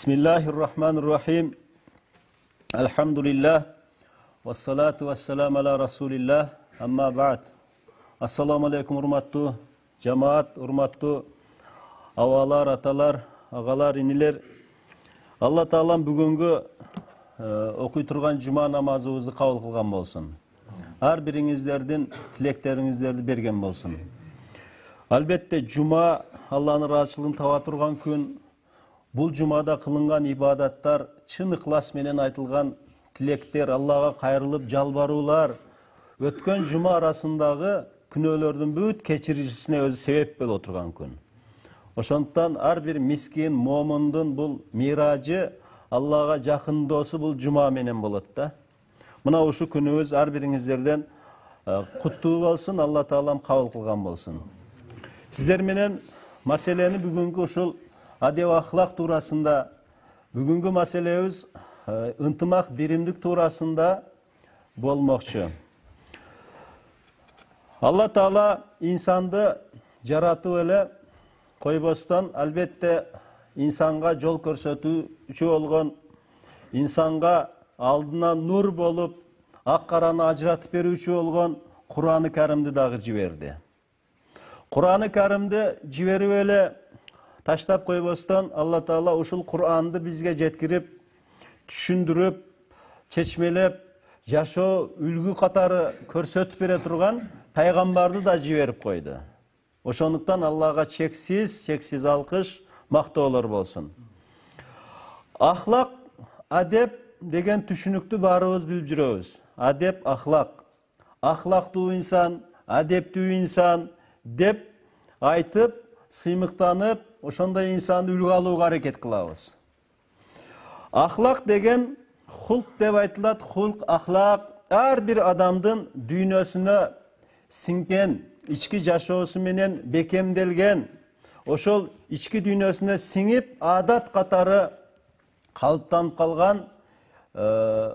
Bismillahirrahmanirrahim. Elhamdülillah. Vessalatu vesselamu ala Rasulillah. Amma ba'd. Assalamu alaikum urmattu cemaat, urmattu avalar, atalar, ağalar, iniler. Allah Taalam бүгүнгү окуй турган жума намазыбызды кабыл кылган болсун. Ар бириңиздердин тилектериңиздерди берген болсун. Албетте жума Алланын ыраазычылыгын таба турган күн. Бул жумада кылынган ибадаттар, чын ыклас менен айтылган тилектер, Аллага кайрылып жалбаруулар өткөн жума арасындагы күнөөлөрдүн бүт кечирилишине өзү себеп боло турган күн. Ошондуктан ар бир мискин момундун бул миражы, Аллага жакындоосу бул жума менен болот да. Мына ушу күнүбүз ар бириңиздерден куттуу болсун, Алла Таалам кабыл кылган болсун. Сиздер менен маселени бүгүнкү ушул адеп ахлак туурасында, бүгүнкү маселебиз ынтымак биримдик туурасында болмокчу. Алла Таала инсанды жаратып эле койбостон, албетте инсанга жол көрсөтүүчү болгон, инсанга алдына нур болуп, ак караны ажыратып берүүчү болгон Кур'аны Каримди дагы жиберди. Кур'аны Каримди жиберип эле таштап койбостон, Алла Таала ушул Кур'анды бизге жеткирип, түшүндүрүп, чечмелеп, жашоо үлгү катары көрсөтүп бере турган пайгамбарды да жиберип койду. Ошондуктан Аллага чексиз алкыш, мактоолор болсун. Ахлак, адеп деген түшүнүктү баарыбыз билип жүрөбүз. Адеп, ахлак. Ахлактуу инсан, адептүү инсан деп айтып, сыймыктанып, ошондой инсанды үлгү алууга аракет кылабыз. Ахлак деген хулк деп айтылат. Хулк, ахлак ар бир адамдын дүйнөсүнө сиңген, ички жашоосу менен бекемделген, ошол ички дүйнөсүнө сиңип, адат катары калыптанып калган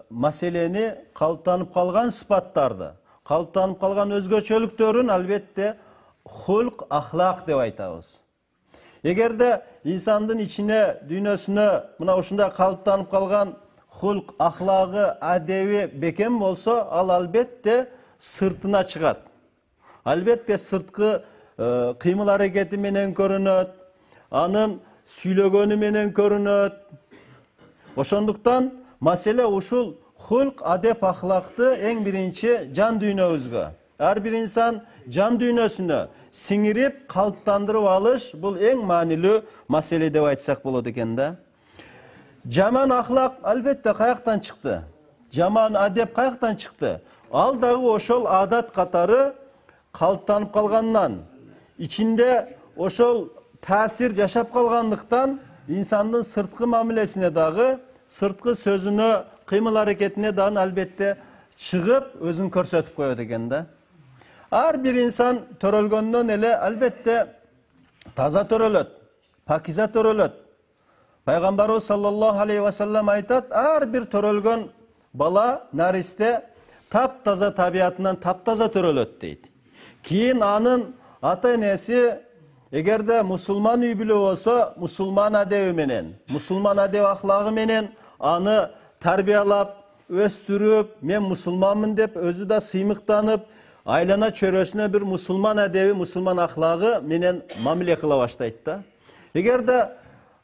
маселени, калыптанып калган сыпаттарды, калыптанып калган өзгөчөлүктөрүн албетте хулк, ахлак деп айтабыз. Эгерде инсандын ичине, дүйнөсүнө мына ушундай калыптанып калган хулк, ахлагы, адеби бекем болсо, ал албетте сыртына чыгат. Албетте сырткы кыймыл аракети менен көрүнөт, анын сүйлөгөнү менен көрүнөт. Ошондуктан маселе ушул хулк, адеп, ахлакты эң биринчи жан дүйнөбүзгө, ар бир инсан жан дүйнөсүнө сиңирип, калыптандырып алыш бул эң маанилүү маселе деп айтсак болот экен да. Жаман ахлак албетте каяктан чыкты? Жаман адеп каяктан чыкты? Ал дагы ошол адат катары калыптанып калгандан, ичинде ошол таасир жашап калгандыктан инсандын сырткы мамилесине дагы, сырткы сөзүнө, кыймыл аракетине дагы албетте чыгып, өзүн көрсөтүп коет экен да. Ар бир инсан төрөлгөндөн эле албетте таза төрөлөт, пакиза төрөлөт. Пайгамбарыбыз саллаллаху алейхи ва саллям айтат, ар бир төрөлгөн бала, наристе таптаза табиятынан таптаза төрөлөт дейт. Кийин анын ата-энеси эгерде мусулман үй бүлө болсо, мусулман адеби менен, мусулман адеп ахлагы менен аны тарбиялап, өстүрүп, мен мусулманмын деп өзү да сыймыктанып, айлана чөрөсүнө бир мусулман адеби, мусулман ахлагы менен мамиле кыла баштайт да. Эгерде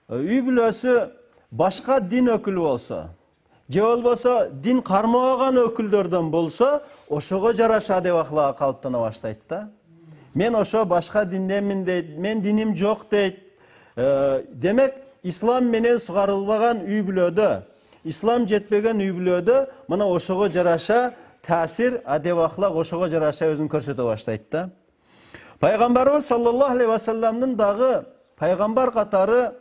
үй бүлөсү башка дин өкүлү болсо, же болбосо дин кармабаган өкүлдөрдөн болсо, ошого жараша адеп ахлагы калыптана баштайт да. Мен ошо башка динденмин дейт, мен диним жок дейт. Демек, ислам менен сугарылбаган үй бүлөдө, ислам жетпеген үй бүлөдө мына ошого жараша таасир, адеп ахлак ошого жараша өзүн көрсөтө баштайт да. Пайгамбарыбыз саллаллаху алейхи ва салламдын дагы пайгамбар катары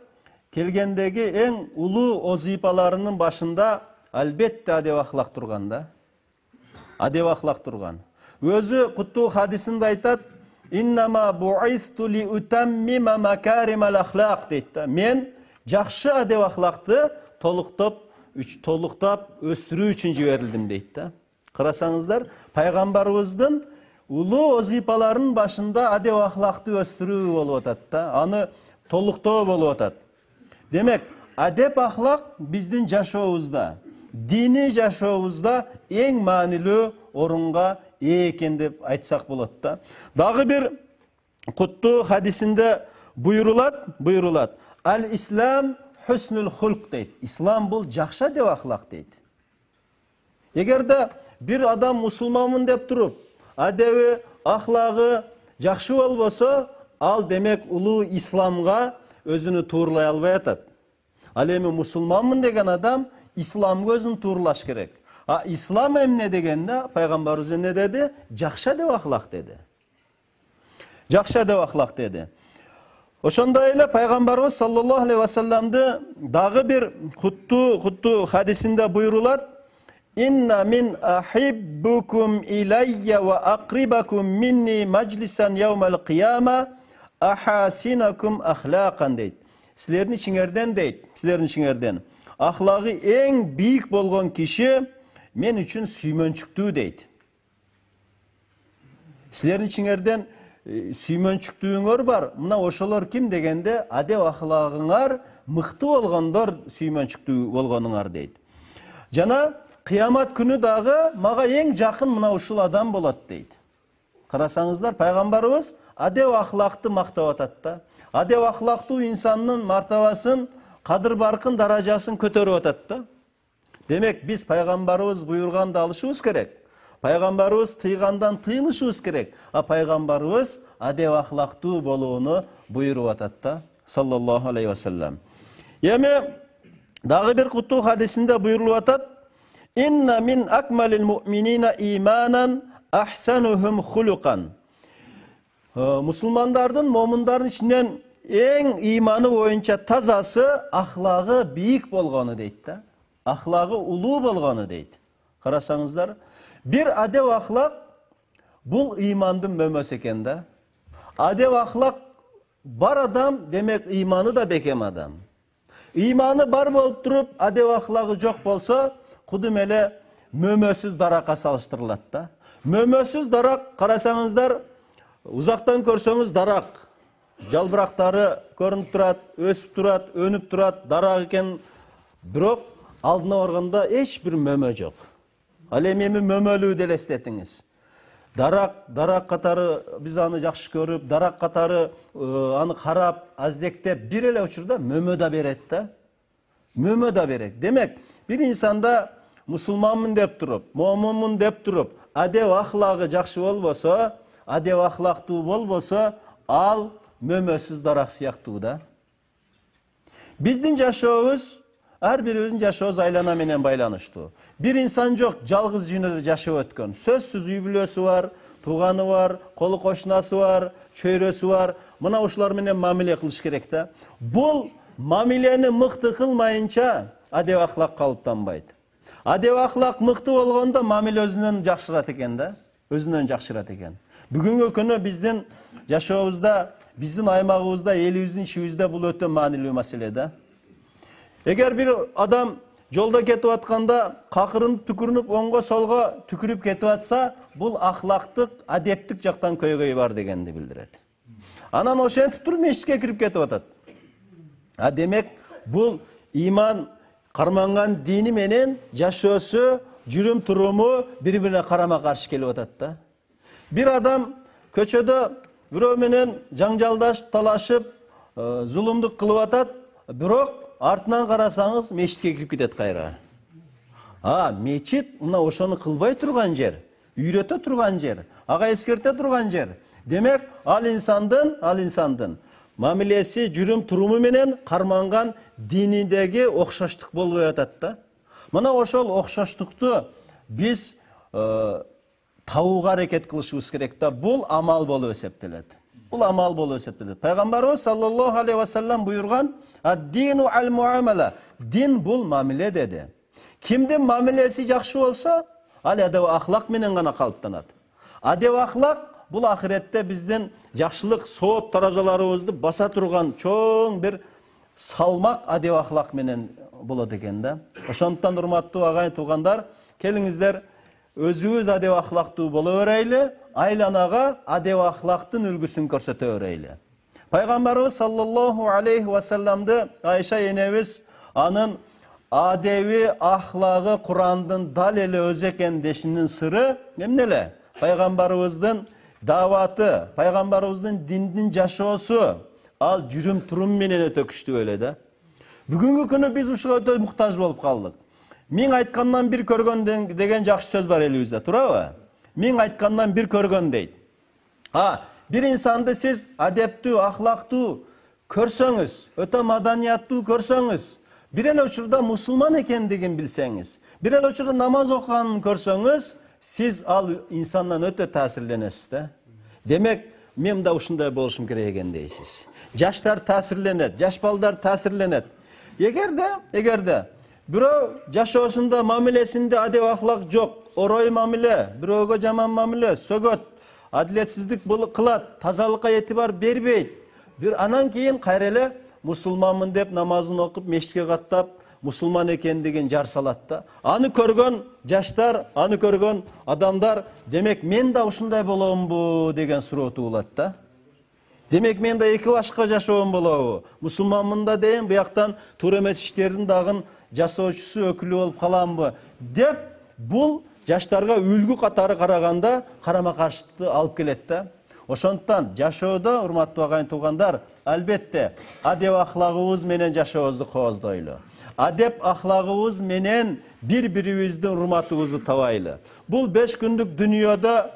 келгендеги эң улуу озипаларынын башында албетте адеп ахлак турган да. Адеп ахлак турган. Өзү куттуу хадисинде айтат, «Иннама бу'исту ли утаммима макаримал ахлак» дейт да. Мен жакшы адеп ахлакты толуктап өстүрүү үчүн жиберилдим дейт да. Карасаңыздар, пайгамбарыбыздын улуу озипаларынын башында адеп ахлакты өстүрүү болуп атат да, аны толуктоо болуп атат. Демек, адеп ахлак биздин жашообузда, диний жашообузда эң маанилүү орунга ээ экен деп айтсак болот да. Дагы бир куттуу хадисинде буйрулат. Ал-ислам хуснул хулк дейт. Ислам бул жакшы адеп ахлак дейт. Эгерде бир адам мусулманмын деп туруп, адеби, ахлагы жакшы болбосо, ал демек улуу исламга өзүнү туурлай албай атат. Ал эми мусулманмын деген адам исламга өзүн туурлаш керек. А ислам эмне дегенде пайгамбарыбыз эмне деди? Жакшы адеп ахлак деди. Жакшы адеп ахлак деди. Ошондой эле пайгамбарыбыз саллаллаху алейхи ва салламды дагы бир куттуу хадисинде буйрулат: Инна мин ахиббукум иlayya ва aqribakum minni majlisan yawmal qiyama ahasinakum akhlaqan дейт. Силердин ичиңерден дейт, силердин ичиңерден ахлагы эң бийик болгон киши мен үчүн сүймөнчүктүү дейт. Силердин ичиңерден сүймөнчүктүүңөр бар. Мына ошолор ким дегенде адеп ахлагыңар мыкты болгондор сүймөнчүктүү болгонуңар дейт. Жана кыямат күнү дагы мага эң жакын мына ушул адам болот дейт. Карасаңыздар, пайгамбарыбыз адеп ахлакты мактап атат да. Адеп ахлактуу инсандын мартабасын, кадыр баркын, даражасын көтөрүп атат да. Демек, биз пайгамбарыбыз буйруганды алышыбыз керек. Пайгамбарыбыз тыйгандан тыйылышыбыз керек. А пайгамбарыбыз адеп ахлактуу болууну буйруп атат да, саллаллаху алейхи ва саллам. Эми дагы бир куттуу хадисинде буйрулуп атат: Инна мин акмалил муъминина иманан ахсанухум хулукан. Мусулмандардын, момундардын ичинен эң иманы боюнча тазасы ахлагы бийик болгону дейт да. Ахлагы улуу болгону дейт. Карасаңыздар, бир адеп ахлак бул имандын мөмөсү экен да. Адеп ахлак бар адам, демек иманы да бекем адам. Иманы бар болуп туруп, адеп ахлагы жок болсо, кудум эле мөмөсүз даракка салыштырылат да. Мөмөсүз дарак, карасаңыздар, узактан көрсөңүз дарак, жалбырактары көрүнүп турат, өсүп турат, өнүп турат, дарак экен, бирок алдына барганда эч бир мөмө жок. Ал эми мөмөлүүдү элестетиңиз. Дарак катары биз аны жакшы көрүп, дарак катары аны карап, аздектеп, бир эле учурда мөмө да берет да. Мөмө да берет. Демек, бир инсанда мусулманмын деп туруп, момунмун деп туруп, адеп ахлагы жакшы болбосо, адеп ахлактуу болбосо, ал мөмөсүз дарак сыяктуу да. Биздин жашообуз, ар бирибиздин жашообуз айлана менен байланыштуу. Бир инсан жок, жалгыз жүйнөдө жашап өткөн. Сөзсүз үй бүлөсү бар, тууганы бар, колу кошунасы бар, чөйрөсү бар. Мына ушулар менен мамиле кылыш керек да. Бул мамилени мыкты кылмайынча адеп ахлак калыптанбайт. Адеп ахлак мыкты болгондо мамиле өзүнөн жакшырат экен да. Өзүнөн жакшырат экен. Бүгүнкү күнү биздин жашообузда, биздин аймагыбызда, элибиздин ичибизде бул өтө маанилүү маселе да. Эгер бир адам жолдо кетип атканда какырынып түкүрүнүп, оңго солго түкүрүп кетип атса, бул ахлактык, адептик жактан көйгөй бар дегенди билдирет. Анан ошентип туруп мешитке кирип кетип атат. А демек, бул иман карманган дини менен жашоосу, жүрүм туруму бири-бирине карама-каршы келип атат да. Бир адам көчөдө бирөө менен жаңжалдашып, талашып, зулумдук кылып атат, бирок артынан карасаңыз мечитке кирип кетет кайра. Мечит мына ошону кылбай турган жер, үйрөтө турган жер, ага эскерте турган жер. Демек, ал инсандын мамилеси, жүрүм туруму менен карманган дининдеги окшоштук болбой атат да. Мына ошол окшоштукту биз табууга аракет кылышыбыз керек да. Бул амал болуп эсептелет. Бул амал болуп эсептелет. Пайгамбарыбыз саллаллаху алейхи ва саллам буйруган: "Ад-дину ал-муамала." Дин бул мамиле деди. Кимдин мамилеси жакшы болсо, ал адеп ахлак менен гана калыптанат. Адеп ахлак бул ахиретте биздин жакшылык сооп таразаларыбызды баса турган чоң бир салмак адеп ахлак менен болот экен да. Ошондуктан урматтуу агайын туугандар, келиңиздер өзүбүз адеп ахлактуу боло берейли, айланага адеп ахлактын үлгүсүн көрсөтө берейли. Пайгамбарыбыз саллаллаху алейхи ва салламды Айша энебиз анын адеби ахлагы Курандын дал эле өзү экен дешинин сыры эмне эле? Пайгамбарыбыздын даваты, пайгамбарыбыздын диндин жашоосу, ал жүрүм турум менен өтө күчтүү эле да. Бүгүнкү күнү биз ушуга өтө муктаж болуп калдык. Миң айткандан бир көргөн деген жакшы сөз бар элибизде, туурабы? Миң айткандан бир көргөн дейт. Бир инсанды сиз адептүү, ахлактуу көрсөңүз, өтө маданияттуу көрсөңүз, бир эле учурда мусулман экендигин билсеңиз, бир эле учурда намаз окуганын көрсөңүз, сиз ал инсандан өтө таасирленесиз да. Демек, мен да ушундай болушум керек экен дейсиз. Жаштар таасирленет, жаш балдар таасирленет. Эгерде бирөө жашоосунда, мамилесинде адеп ахлак жок, орой мамиле, бирөөгө жаман мамиле, сөгөт, адилетсиздик кылат, тазалыкка этибар бербейт. Бир анан кийин кайра эле мусулманмын деп намазын окуп, мешитке каттап, мусулман экендигин жар салат да. Аны көргөн жаштар, аны көргөн адамдар, демек мен да ушундай боломбу деген суроо туулат да. Демек мен да эки башка жашоом болобу? Мусулманмын да дейм, буяктан туура эмес иштердин дагы жасоочусу, өкүлү болуп каламбы деп, бул жаштарга үлгү катары караганда карама каршылыкты алып келет да. Ошондуктан жашоодо, урматтуу агайын туугандар, албетте адеп ахлагыбыз менен жашообузду кооздойлу. Адеп ахлагыбыз менен бири-бирибиздин урматыбызды табайлы. Бул 5 күндүк дүйнөдө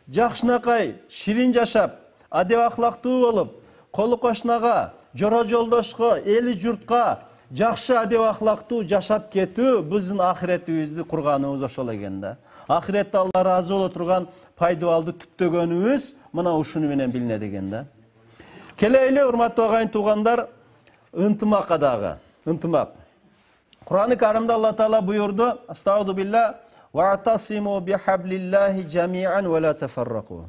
жакшынакай, ширин жашап, адеп ахлактуу болуп, колу кошунага, жора жолдошко, эли журтка жакшы адеп ахлактуу жашап кетүү биздин ахиретибизди курганыбыз ошол экен да. Ахиретте Алла ыраазы боло турган пайдаларды түптөгөнүбүз мына ушуну менен билинет экен да. Келели, урматтуу агайын туугандар, ынтымакка дагы, ынтымак. Кур'ан-ы Каримде Алла Таала буйурду: "Астагфиру билла ва атасиму бихаблиллахи жамиан ва ла тафарраку."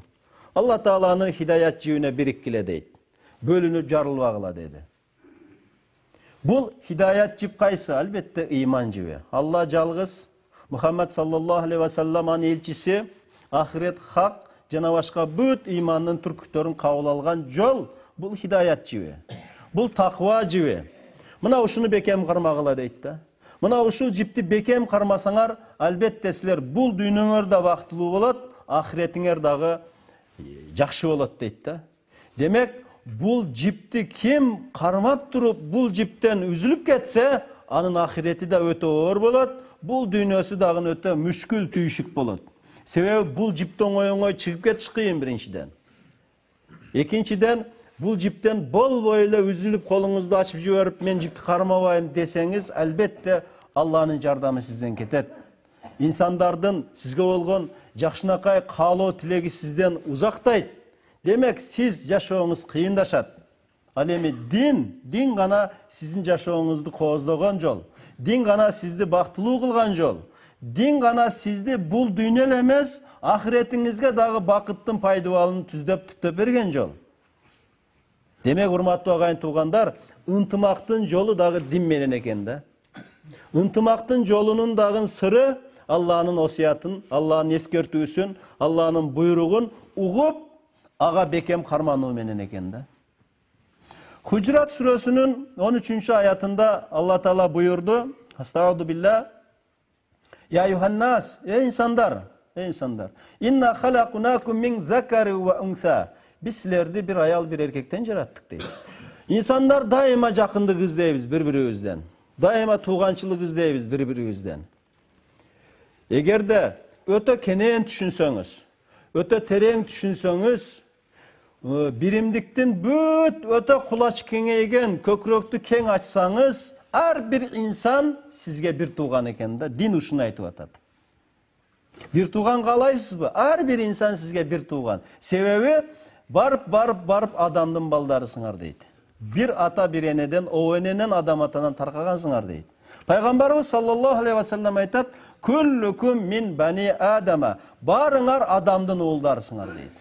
Алла Тааланы хидаят жибине бириккиле дейт. Бөлүнүп жарылбагыла деди. Бул хидаят жип кайсы? Албетте ыйман жиби. Алла жалгыз, Мухаммад саллаллаху алейхи ва саллам анын элчиси, ахирет хак жана башка бүт ыймандын түркүтөрүн кабыл алган жол бул хидаят жиби. Бул таква жиби. Мына ушуну бекем кармагыла дейт да. Мына ушул жипти бекем кармасаңар, албетте силер бул дүйнөңөр да бактылуу болот, ахиретиңер дагы жакшы болот дейт да. Демек, бул жипти ким кармап туруп, бул жиптен үзүлүп кетсе, анын ахирети да өтө оор болот, бул дүйнөсү дагы өтө мүшкүл, түйшүк болот. Себеби бул жиптен оңой чыгып кетиш кыйын биринчиден. Экинчиден, бул жиптен болбой эле үзүлүп колуңузду ачып жиберип, мен жипти кармабайм десеңиз, албетте Алланын жардамы сизден кетет. Инсандардын сизге болгон жакшынакай каалоо тилеги сизден узактайт. Демек, сиз жашооңуз кыйындашат. Ал эми дин гана сиздин жашооңузду кооздогон жол. Дин гана сизди бактылуу кылган жол. Дин гана сизди бул дүйнө эле эмес, ахиретиңизге дагы бакыттын пайдаларын түздөп берген жол. Демек, урматтуу агайын туугандар, ынтымактын жолу дагы дин менен экен да. Ынтымактын жолунун дагы сыры Алланын осуятын, Алланын эскертүүсүн, Алланын буйругун угуп, ага бекем кармануу менен экен да. Хужрат сүрөсүнүн 13-аятында Алла Таала буйурду: "Астагфиру билла я юханнас, инсандар, инна халакунакум мин закари ва унса." Биз силерди бир аял, бир эркектен жараттык дейт. Инсандар дайыма жакындык издейбиз бири-бирибизден. Дайыма тууганчылык издейбиз бири-бирибизден. Эгерде өтө кенен түшүнсөңүз, өтө терең түшүнсөңүз, биримдиктин бүт өтө кулач кеңейген көкүрөктү кең ачсаңыз, ар бир инсан сизге бир тууган экен да. Дин ушуну айтып атат. Бир тууган каалайсызбы? Ар бир инсан сизге бир тууган. Себеби барып адамдын балдарысыңар дейт. Бир ата бир энеден, о эненен адам атанан таркагансыңар дейт. Пайгамбарыбыз саллаллаху алейхи ва саллям айтат: "Күллүкүм мин бани Адама." Барыңар адамдын уулдарысыңар дейт.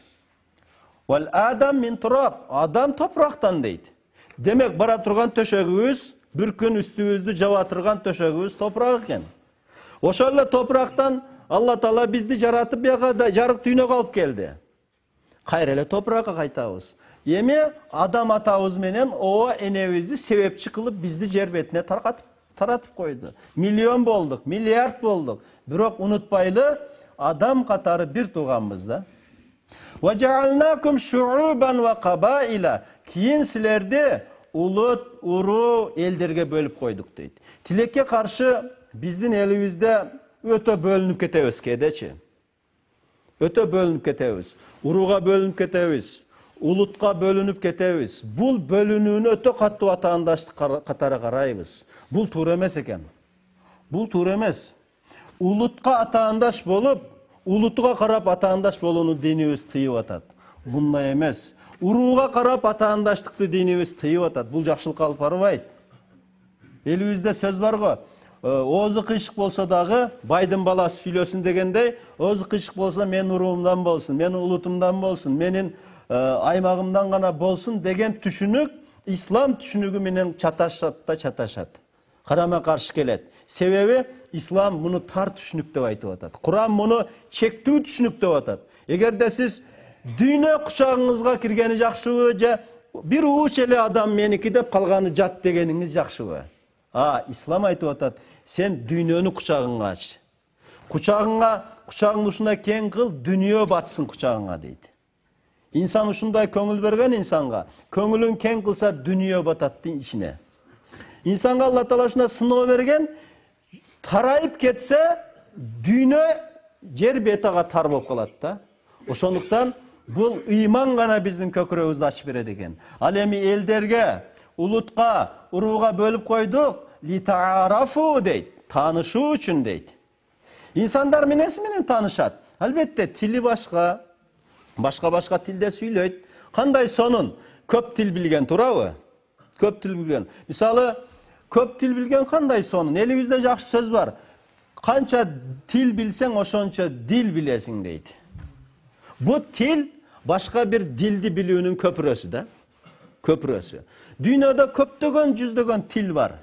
"Вал адам мин тураб." Адам топурактан дейт. Демек, бара турган төшөгүбүз, бир күн үстүбүздү жаба турган төшөгүбүз топурак экен. Ошол эле топурактан Алла Таала бизди жаратып, бияга жарык дүйнөгө алып келди. Кайра эле топуракка кайтабыз. Эми адам атабыз менен о энебизди себепчи кылып бизди жер бетине таркатып таратып койду. Миллион болдук, миллиард болдук. Бирок унутпайлы, адам катары бир тууганбыз да. وَجَعَلْنَاكُمْ شُعُوبًا وَقَبَائِلًا. Кийин силерди улут, уруу, элдерге бөлүп койдук дейт. Тилекке каршы биздин элибизде өтө бөлүнүп кетебиз кээдечи. Өтө бөлүнүп кетебиз. Урууга бөлүнүп кетебиз. Улутка бөлүнүп кетебиз. Бул бөлүнүүнү өтө катуу атаандаштык катары карайбыз. Бул туура эмес экен. Бул туура эмес. Улутка атаандаш болуп, улутуга карап атаандаш болууну динибиз тыйып атат. Мындай эмес. Урууга карап атаандаштыкты динибиз тыйып атат. Бул жакшылыкка алып барбайт. Элибизде сөз бар го. Оозу кыйшык болсо дагы байдын баласы сүйлөсүн дегендей, оозу кыйшык болсо менин уруумдан болсун, менин улутумдан болсун, менин аймагымдан гана болсун деген түшүнүк ислам түшүнүгү менен чаташат. Карама каршы келет. Себеби ислам муну тар түшүнүк деп айтып атат. Куран муну чектүү түшүнүк деп атат. Эгерде сиз дүйнө кучагыңызга киргени жакшыбы же бир ууч эле адам меники деп калганы жат дегениңиз жакшыбы? Ислам айтып атат, сен дүйнөнү кучагыңа ач. Кучагыңды ушундай кең кыл, дүйнө батсын кучагыңа дейт. Инсан ушундай көңүл берген инсанга, көңүлүн кең кылса дүйнө батат ичине. Инсанга Алла Таала ушундай сыноо берген, тарайып кетсе, дүйнө жер бетага тар болуп калат да. Ошондуктан бул ыйман гана биздин көкүрөгүбүздү ачып берет экен. Ал эми элдерге, улутка, урууга бөлүп койдук, литаарафу дейт, таанышуу үчүн дейт. Инсандар эмнеси менен таанышат? Албетте, тили башка тилде сүйлөйт. Кандай сонун? Көп тил билген, туурабы? Көп тил билген. Мисалы, көп тил билген кандай сонун? Элибизде жакшы сөз бар. Канча тил билсең, ошончо дил билесиң дейт. Бу тил башка бир дилди билүүнүн көпүрөсү да. Көпүрөсү. Дүйнөдө көптөгөн жүздөгөн тил бар.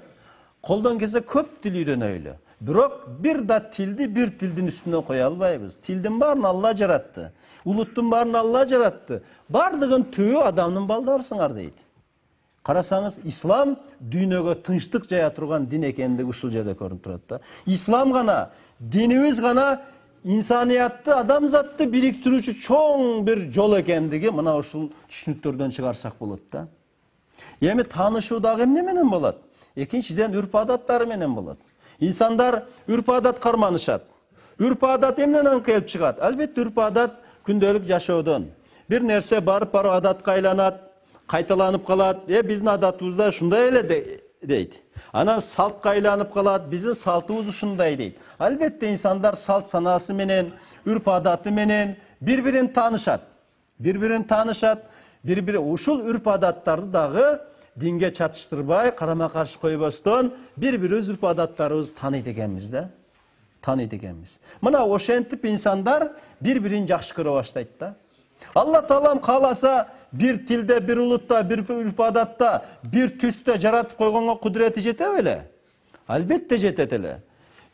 Колдон келсе көп тил үйрөнөйлү. Бирок бир да тилди бир тилдин үстүнө кое албайбыз. Тилдин баарын Алла жаратты. Улуттун баарын Алла жаратты. Бардыгын түбү адамдын балдарысыңар дейт. Карасаңыз, ислам дүйнөгө тынчтык жая турган дин экендиги ушул жерде көрүнүп турат да. Ислам гана, динибиз гана инсаниятты, адамзатты бириктирүүчү чоң бир жол экендиги мына ушул түшүнүктөрдөн чыгарсак болот да. Эми таанышуу дагы эмне менен болот? Экинчиден үрп-адаттары менен болот. Инсандар үрп-адат карманышат. Үрп-адат эмнеден келип чыгат? Албетте үрп-адат күндөлүк жашоодон. Бир нерсе барып адатка айланат, кайталанып калат. Биздин адатыбызда ушундай эле дейт. Анан салтка айланып калат, биздин салтыбыз ушундай дейт. Албетте инсандар салт санаасы менен, үрп-адаты менен бири-бирин таанышат. Бири-бири ушул үрп-адаттарды дагы динге чатыштырбай, карама каршы койбостон бири-бирибиз үрп-адаттарыбызды тааныйт экенбиз да. Тааныйт экенбиз. Мына ошентип инсандар бири-бирин жакшы көрө баштайт да. Алла Таалам кааласа бир тилде, бир улутта, бир үрп-адатта, бир түстө жаратып койгонго кудурети жете беле? Албетте жетет эле.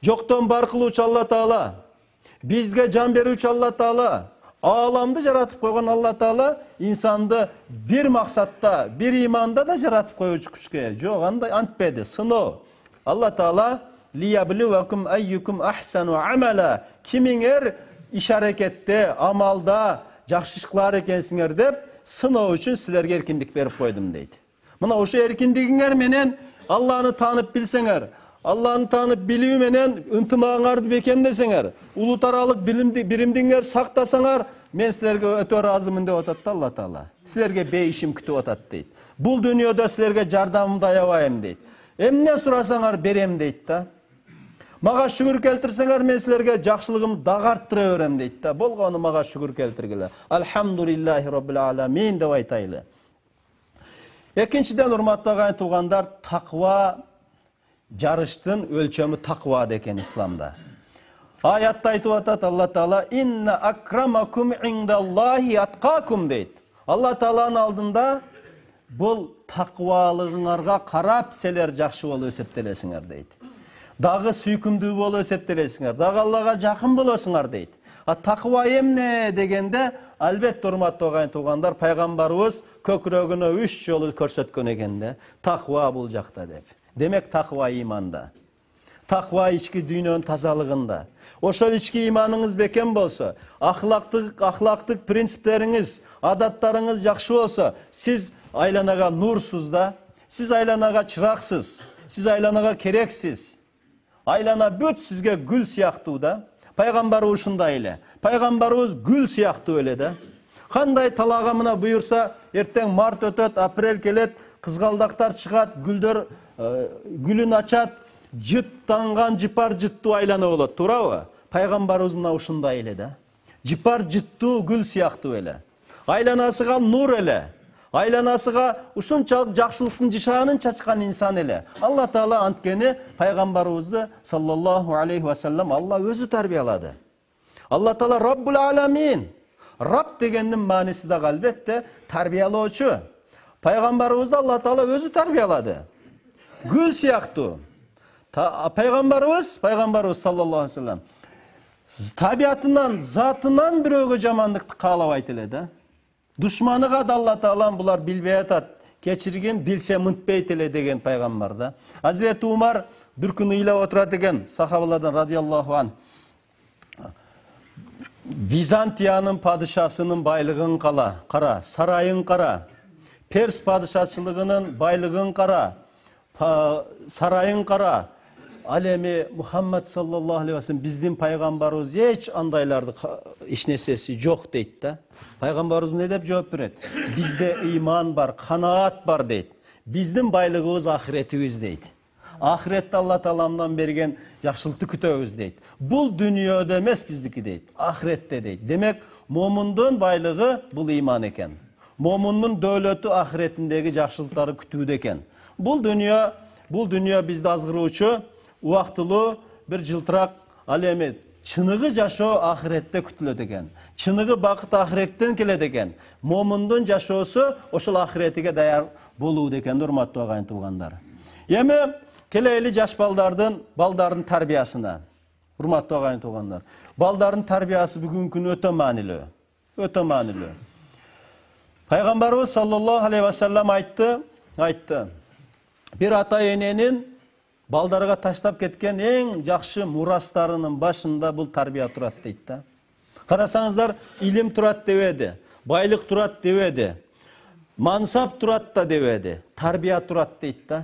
Жоктон бар кылуучу Алла Таала, бизге жан берүүчү Алла Таала, ааламды жаратып койгон Алла Таала инсанды бир максатта, бир иманда да жаратып коюучу күчкө. Жок, андай антпеди, сыноо. Алла Таала лиябливакум айюкум ахсану амала. Кимиңер иш аракетте, амалда жакшы иш кылар экенсиңер деп сыноо үчүн силерге эркиндик берип койдум дейт. Мына ошо эркиндигиңер менен Алланы таанып билсеңер, Алланы таанып билүү менен ынтымагыңарды бекемдесеңер, улут аралык биримдиңер сактасаңар, мен силерге өтө ыраазымын деп атат да Алла Таала. Силерге бейишим күтүп атат дейт. Бул дүйнөдө силерге жардамымды аябайм дейт. Эмне сурасаңар берем дейт да. Мага шүгүр келтирсеңер, мен силерге жакшылыгымды дагы арттыра берем дейт да. Болгону мага шүгүр келтиргиле. Алхамдулиллахи роббил аламин деп айтайлы. Экинчиден, урматтуу агайын туугандар, таква жарыштын өлчөмү таква деген исламда. Аятта айтып атат Алла Таала: "Инна акрамакум индаллахи аткакум" дейт. Алла Тааланын алдында бул таквалыгыңарга карап силер жакшы болуп эсептелесиңер дейт. Дагы сүйкүмдүү болуп эсептелесиңер, дагы Аллага жакын болосуңар дейт. Таква эмне дегенде, албетте урматтуу агайын туугандар, пайгамбарыбыз көкүрөгүнө 3 жолу көрсөткөн экен да. Таква бул жакта деп. Демек таква иманда. Таква ички дүйнөнүн тазалыгында. Ошол ички иманыңыз бекем болсо, ахлактык принциптериңиз, адаттарыңыз жакшы болсо, сиз айланага нурсуз да, сиз айланага чыраксыз, сиз айланага керексиз. Айлана бүт сизге гүл сыяктуу да. Пайгамбарыбыз ушундай эле. Пайгамбарыбыз гүл сыяктуу эле да. Кандай талага мына буйурса, эртең март өтөт, апрель келет, кызгалдактар чыгат, гүлдөр гүлүн ачат, жыттанган жыпар жыттуу айлана болот, туурабы? Пайгамбарыбыз мына ушундай эле да. Жыпар жыттуу гүл сыяктуу эле. Айланасыга нур эле. Айланасыга ушунчалык жакшылыктын жышаанын чачкан инсан эле. Алла Таала анткени пайгамбарыбызды саллаллаху алейхи ва саллям Алла өзү тарбиялады. Алла Таала Раббул аламин. Раб дегендин мааниси да албетте тарбиялоочу. Пайгамбарыбызды Алла Таала өзү тарбиялады. Гүл сыяктуу. Пайгамбарыбыз саллаллаху алейхи ва саллям табиятынан, затынан бирөөгө жамандыкты каалабайт эле да. Душманыга да Алла Таала булар билбей атат, кечиргин, билсе мынтпейт эле деген пайгамбар да. Азирети Умар бир күнү ыйлап отурат экен, сахабалардан радиаллаху ан. Византиянын падышасынын байлыгын кара, сарайын кара. Перс падышачылыгынын байлыгын кара, сарайын кара. Ал эми Мухаммад саллаллаху алейхи ва саллям биздин пайгамбарыбыз эч андайларды эч нерсеси жок дейт да. Пайгамбарыбыз эмне деп жооп берет? Бизде ыйман бар, канаат бар дейт. Биздин байлыгыбыз ахиретибиз дейт. Ахиретте Алла Тааламдан берген жакшылыкты күтөбүз дейт. Бул дүйнөдө эмес биздики дейт, ахиретте дейт. Демек, момундун байлыгы бул ыйман экен. Момундун дөөлөтү ахиретиндеги жакшылыктарды күтүүдө экен. Бул дүйнө бизди азгыруучу убактылуу бир жылтырак, ал эми чыныгы жашоо ахиретте күтүлөт экен. Чыныгы бакыт ахиреттен келет экен. Момундун жашоосу ошол ахиретиге даяр болуу экен, урматтуу агайын туугандар. Эми келели жаш балдардын тарбиясына. Урматтуу агайын туугандар. Балдардын тарбиясы бүгүнкү күнү өтө маанилүү. Өтө маанилүү. Пайгамбарыбыз саллаллаху алейхи ва саллям айтты. Бир ата эненин балдарга таштап кеткен эң жакшы мурастарынын башында бул тарбия турат дейт да. Карасаңыздар, илим турат дебеди, байлык турат дебеди, мансап турат да дебеди, тарбия турат дейт да.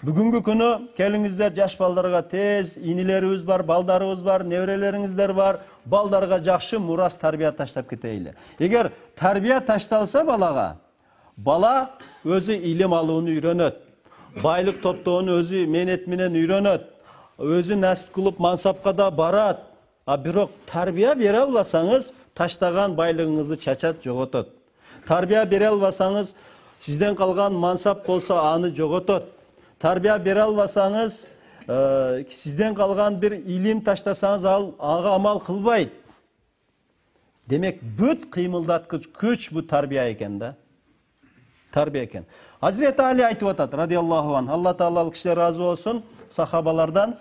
Бүгүнкү күнү келиңиздер жаш балдарга тез, инилерибиз бар, балдарыбыз бар, неберелериңиздер бар, балдарга жакшы мурас тарбия таштап кетейли. Эгер тарбия ташталса бала өзү илим алууну үйрөнөт. Байлык топтоону өзү менет менен үйрөнөт. Өзү насип кылып мансапка да барат. А бирок тарбия бере албасаңыз, таштаган байлыгыңызды чачат, жоготот. Тарбия бере албасаңыз, сизден калган мансап болсо аны жоготот. Тарбия бере албасаңыз, сизден калган бир илим таштасаңыз, ага амал кылбайт. Демек, бүт кыймылдаткыч күч бу тарбия экен да. Тарбия экен. Азирети Али айтып атат, радиаллаху ан, Алла Таала ал кишилер разы болсун, сахабалардан,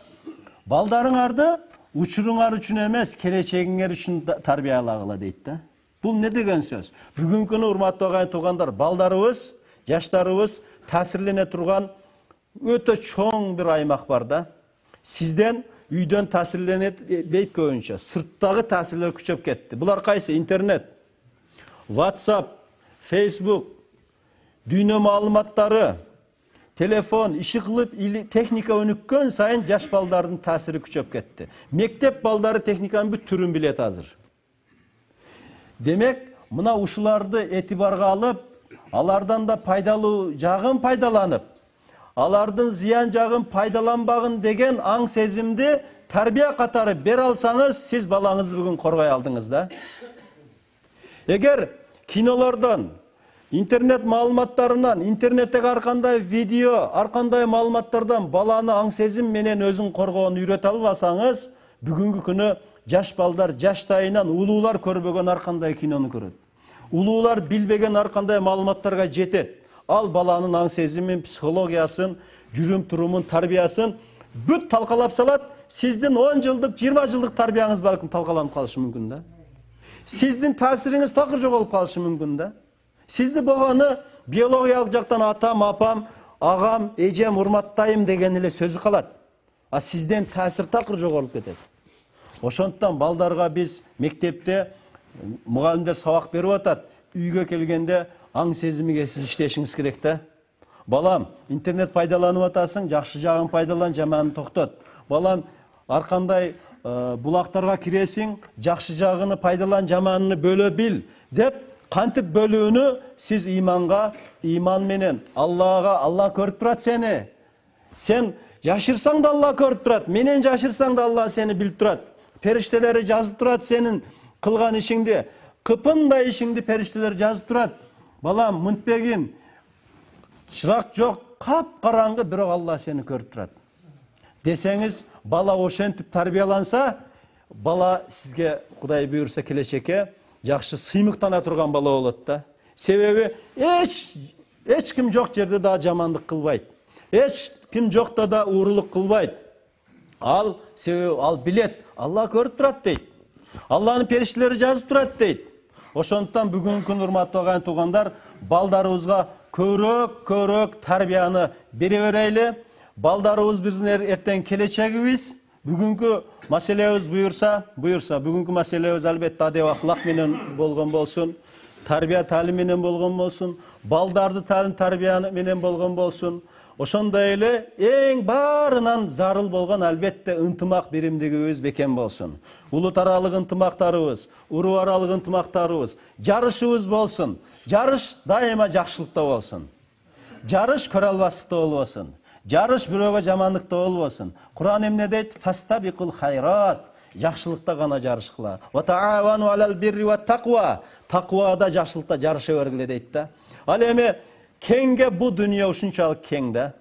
балдарыңарды учуруңар үчүн эмес, келечегиңер үчүн тарбиялагыла дейт да. Бул не деген сөз? Бүгүнкү күнү урматтуу агайын туугандар, балдарыбыз, жаштарыбыз таасирлене турган өтө чоң бир аймак бар да. Сизден үйдөн таасирленет бейт көбүнчө, сырттагы таасирлер күчөп кетти. Булар кайсы? Интернет, WhatsApp, Facebook, дүйнө маалыматтары, телефон, иши кылып, техника өнүккөн сайын жаш балдардын таасири күчөп кетти. Мектеп балдары техниканын бүт түрүн билет азыр. Демек, мына ушуларды этибарга алып, алардан да пайдалуу жагын пайдаланып, алардын зыян жагын пайдаланбагын деген аң сезимди тарбия катары бере алсаңыз, сиз балаңызды бүгүн коргой алдыңыз да. Эгер кинолордон, интернет маалыматтарынан, интернеттеги ар кандай видео, ар кандай маалыматтардан баланы аң сезим менен өзүн коргоону үйрөтө албасаңыз, бүгүнкү күнү жаш балдар жаштайынан улуулар көрбөгөн ар кандай кинону көрөт. Улуулар билбеген ар кандай маалыматтарга жетет. Ал баланын аң сезимин, психологиясын, жүрүм турумун, тарбиясын бүт талкалап салат. Сиздин 10 жылдык, 20 жылдык тарбияңыз балким талкаланып калышы мүмкүн да. Сиздин таасириңиз такыр жоголуп калышы мүмкүн да. Сизди болгону биологиялык жактан атам, апам, агам, эжем, урматтайм деген эле сөзү калат. А сизден таасир такыр жогорулуп кетет. Ошондуктан балдарга биз мектепте мугалимдер сабак берип атат. Үйгө келгенде аң сезимиге сиз иштешиңиз керек да. Балам, интернет пайдаланып атасың, жакшы жагын пайдалан, жаманын токтот. Балам, ар кандай булактарга киресиң, жакшы жагыны пайдалан, жаманын бөлө бил деп кантип бөлүүнү сиз иманга, иман менен Аллага, Алла көрүп турат сени. Сен жашырсаң да Алла көрүп турат, менен жашырсаң да Алла сени билип турат. Периштелери жазып турат сенин кылган ишиңди, кыпындай ишиңди периштелер жазып турат. Балам, мынтпегин, чырак жок, кап-караңгы, бирок Алла сени көрүп турат. Десеңиз, бала ошентип тарбияланса, бала сизге Кудай буйрса келечекке жакшы сыймыктана турган бала болот да. Себеби эч ким жок жерде да жамандык кылбайт. Эч ким жокто да уурулук кылбайт. Себеби ал билет, Алла көрүп турат дейт. Алланын периштелери жазып турат дейт. Ошондуктан бүгүнкү күн урматтуу агайын туугандар, балдарыбызга көрөк тарбияны бере берели. Балдарыбыз биздин эртең келечегибиз. Бүгүнкү маселебиз буйрса, бүгүнкү маселебиз албетте адеп ахлак менен болгон болсун, тарбия таалим менен болгон болсун, балдарды таалим тарбия менен болгон болсун. Ошондой эле эң баарынан зарыл болгон албетте ынтымак биримдигибиз бекем болсун. Улут аралык ынтымактарыбыз, уруп аралык ынтымактарыбыз, жарышыбыз болсун. Жарыш дайыма жакшылыкта болсун. Жарыш көрө албастыкта болбосун. Жарыш бирөөгө жамандыкта болбосун. Куран эмне дейт? Фастабикул хайрат. Жакшылыкта гана жарышкыла. Ва таавану алал бирри ва тaqwa. Тaqwада жакшылыкта жарыша бергиле дейт да. Ал эми кеңге бул дүйнө ушунчалык кең да.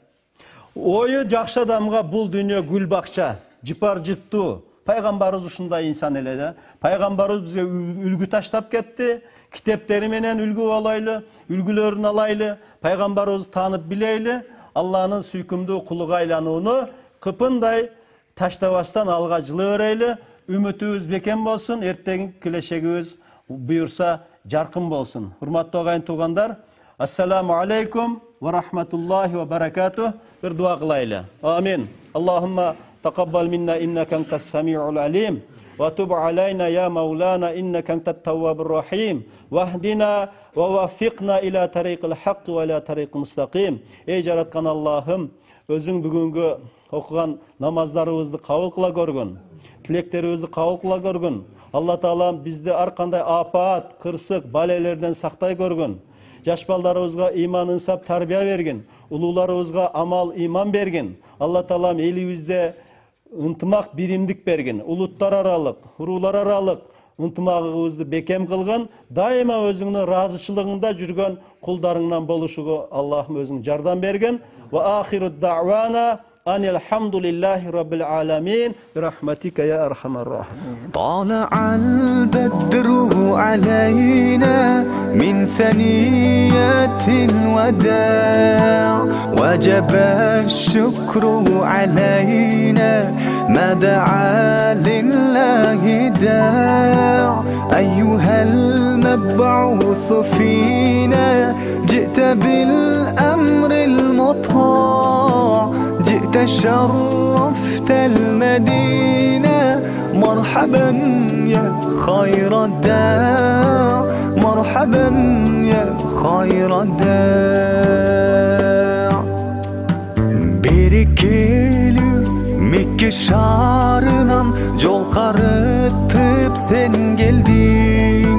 Ою жакшы адамга бул дүйнө гүл бакча, жыпар жыттуу. Пайгамбарыбыз ушундай инсан эле да. Пайгамбарыбыз бизге үлгү таштап кетти. Китептери менен үлгү алайлы, үлгүлөрүн алайлы, пайгамбарыбызды таанып билейли. Алланын сүйкүмдүү кулуга айланууну кыпындай таштабастан алга жылы берели. Үмүтүбүз бекем болсун, эртең келечегибиз буйрса жаркын болсун. Урматтуу агайын туугандар, ассаламу алейкум ва рахматуллахи ва баракатух. Бир дуа кылайлы. Амин. Аллахумма тaqabbal minna innaka antas samiul alim. وتب علينا يا مولانا إنك أنت التواب الرحيم واهدنا ووفقنا إلى طريق الحق وإلى طريق مستقيم. Ey жараткан Аллахым, өзүң бүгүнгү окуган намаздарыбызды кабыл кыла көргүн, тилектерибизди кабыл кыла көргүн. Алла Таалам бизди ар кандай апаат, кырсык, балелерден сактай көргүн. Жаш балдарыбызга иман, инсап, тарбия бергин. Улууларыбызга амал, иман бергин. Алла Таалам элибизде ынтымак, биримдик берген. Улуттар аралык, уруулар аралык ынтымагыбызды бекем кылгын. Дайыма өзүңнүн ыраазычылыгында жүргөн кулдарыңдан болушуга Аллахым өзүң жардам берген. Ва ахиру дa'wana anil hamdulillahi rabbil alamin birahmatika ya arhamar rahimin. طلع البدر علينا من ثنيات الوداع وجب الشكر علينا ما دعا لله داع أيها المبعوث فينا جئت بالأمر المطاع جئت شرفت المدينة مرحبا يا خير الداع مرحبا يا خير الداع Берекелі Мекке шарынан жол қарытып сен келдің